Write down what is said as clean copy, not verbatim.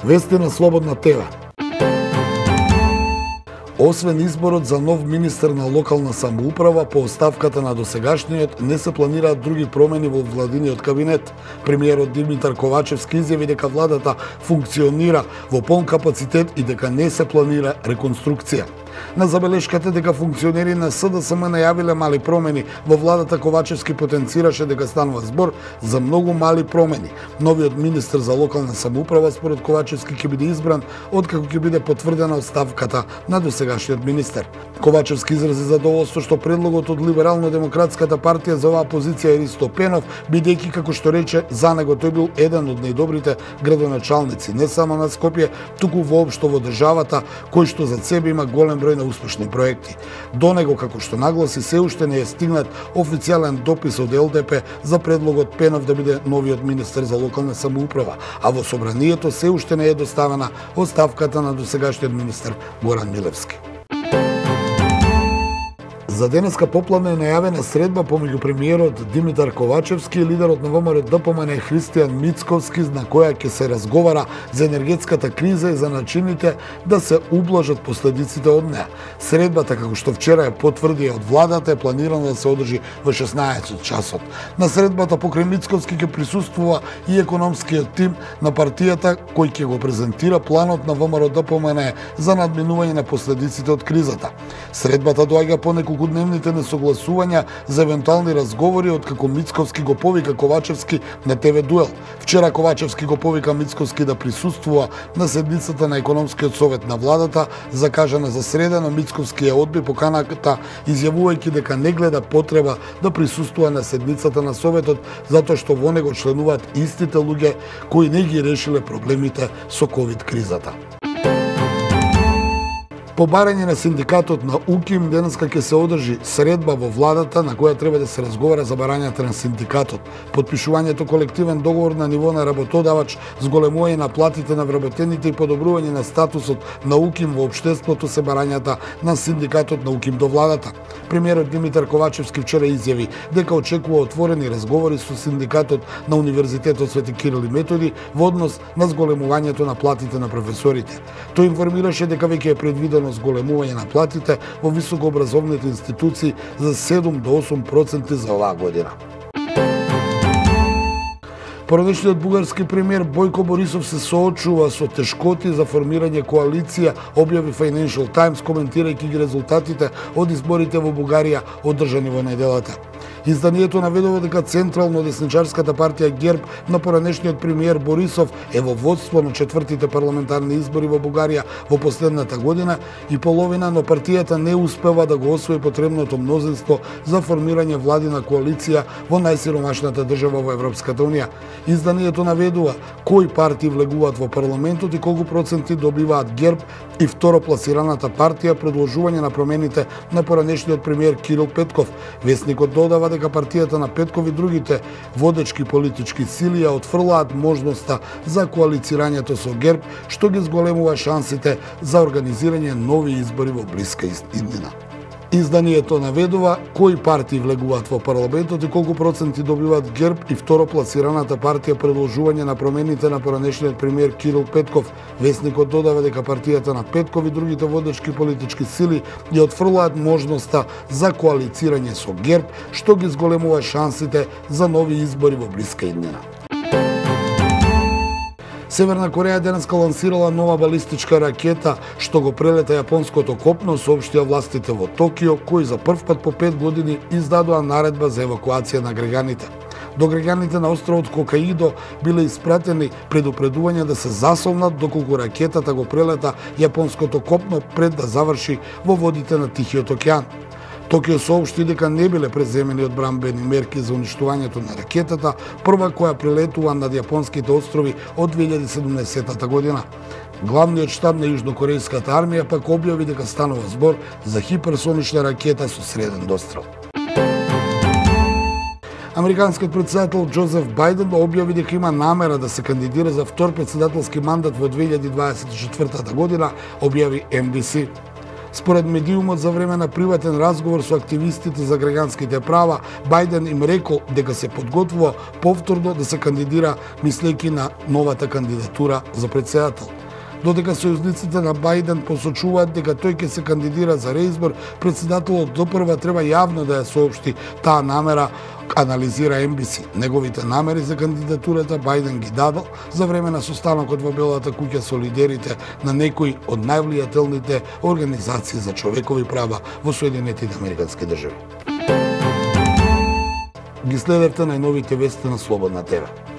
Вести на Слободна ТВ. Освен изборот за нов министер на локална самоуправа, по оставката на досегашниот не се планираат други промени во владиниот кабинет. Премиерот Димитар Ковачевски изјави дека владата функционира во полн капацитет и дека не се планира реконструкција. На забелешката дека функционери на СДСМ најавиле мали промени во владата, Ковачевски потенцираше дека станува збор за многу мали промени. Новиот министер за локална самоуправа според Ковачевски ќе биде избран откако ќе биде потврдена оставката на досегашниот министер. Ковачевски изрази задоволство што предлогот од Либерално-демократската партија за оваа позиција е Ристо Пенов, бидејќи, како што рече, за него тој бил еден од најдобрите градоначалници не само на Скопје, туку воопшто во државата, кој што за себе има голем број на успешни проекти. До него, како што нагласи, се уште не е стигнат официјален допис од ЛДП за предлогот Пенов да биде новиот министер за локална самоуправа, а во собранието се уште не е доставена оставката на досегашниот министер Горан Милевски. За денеска попладне е најавена средба помеѓу премиерот Димитар Ковачевски и лидерот на ВМРО ДПМН Христијан Мицковски, на која ќе се разговара за енергетската криза и за начините да се ублажат последиците од неа. Средбата, како што вчера ја потврди од владата, е планирана да се одржи во 16 часот. На средбата покрај Мицковски ќе присуствува и економскиот тим на партијата, кој ќе го презентира планот на ВМРО ДПМН за надминување на последиците од кризата. Средбата доаѓа по неколку дневните несогласувања за евентуални разговори откако Мицковски го повика Ковачевски на ТВ Дуел. Вчера Ковачевски го повика Мицковски да присуствува на седницата на економскиот совет на владата, закажана за среда, но Мицковски ја одби поканата, изјавувајќи дека не гледа потреба да присуствува на седницата на советот, затоа што во него членуваат истите луѓе кои не ги решиле проблемите со ковид кризата. По барање на синдикатот на УКИМ, денеска ќе се одржи средба во владата на која треба да се разговара за барањата на синдикатот. Подпишувањето колективен договор на ниво на работодавач, зголемување на платите на вработените и подобрување на статусот на УКИМ во општеството се барањата на синдикатот на УКИМ до владата. Премиерот Димитар Ковачевски вчера изјави дека очекува отворени разговори со синдикатот на Универзитетот Свети Кирил и Методи во однос на зголемувањето на платите на професорите. Тој информираше дека веќе е предвидено зголемување на платите во високообразовните институции за 7 до 8% за оваа година. Породечниот бугарски премиер Бојко Борисов се соочува со тешкоти за формирање коалиција, објави Financial Times коментирајќи ги резултатите од изборите во Бугарија одржани во неделата. Изданието наведува дека централно-десничарската партија ГЕРБ на поранешниот премиер Борисов е во водство на четвртите парламентарни избори во Бугарија во последната година и половина, но партијата не успева да го освои потребното мнозинство за формирање владина коалиција во најсиромашната држава во Европската унија. Изданието наведува кои партии влегуваат во парламентот и колку проценти добиваат ГЕРБ и второпласираната партија предложување на промените на поранешниот премиер Кирил Петков. Весникот додава дека партијата на Петков и другите водечки политички сили ја отфрлаат можноста за коалицирањето со ГЕРБ, што ги зголемува шансите за организирање нови избори во блиска иднина. Изданието наведува кои партии влегуваат во парламентот и колку проценти добиваат ГЕРБ и второпласираната партија предложување на промените на поранешниот премиер Кирил Петков. Весникот додава дека партијата на Петков и другите водечки политички сили ја отфрлаат можноста за коалицирање со ГЕРБ, што ги зголемува шансите за нови избори во блиска иднина. Северна Кореја денеска лансирала нова балистичка ракета што го прелета јапонското копно, соопштија властите во Токио, кои за прв пат по 5 години издадоа наредба за евакуација на граѓаните. До граѓаните на островот Хокаидо биле испратени предупредувања да се засолнат доколку ракетата го прелета јапонското копно пред да заврши во водите на Тихиот океан. Токио соопшти дека не биле преземени одбранбени мерки за уништувањето на ракетата, прва која прилетува над јапонските острови од 2017 година. Главниот штаб на Јужнокорејската армија пак објави дека станува збор за хиперсонична ракета со среден дострел. Американскиот претседател Џозеф Бајден објави дека има намера да се кандидира за втор претседателски мандат во 2024 година, објави NBC. Според медиумот, за време на приватен разговор со активистите за граѓанските права, Бајден им рекол дека се подготвува повторно да се кандидира, мислејќи на новата кандидатура за председател. Додека сојузниците на Бајден посочуваат дека тој ќе се кандидира за реизбор, председателот допрва треба јавно да ја соопшти таа намера, анализира NBC. Неговите намери за кандидатурата Бајден ги дадал за време на состанокот во Белата куќа со лидерите на некои од највлијателните организации за човекови права во Соединетите Американски држави. Ги следевте најновите вести на Слободна ТВ.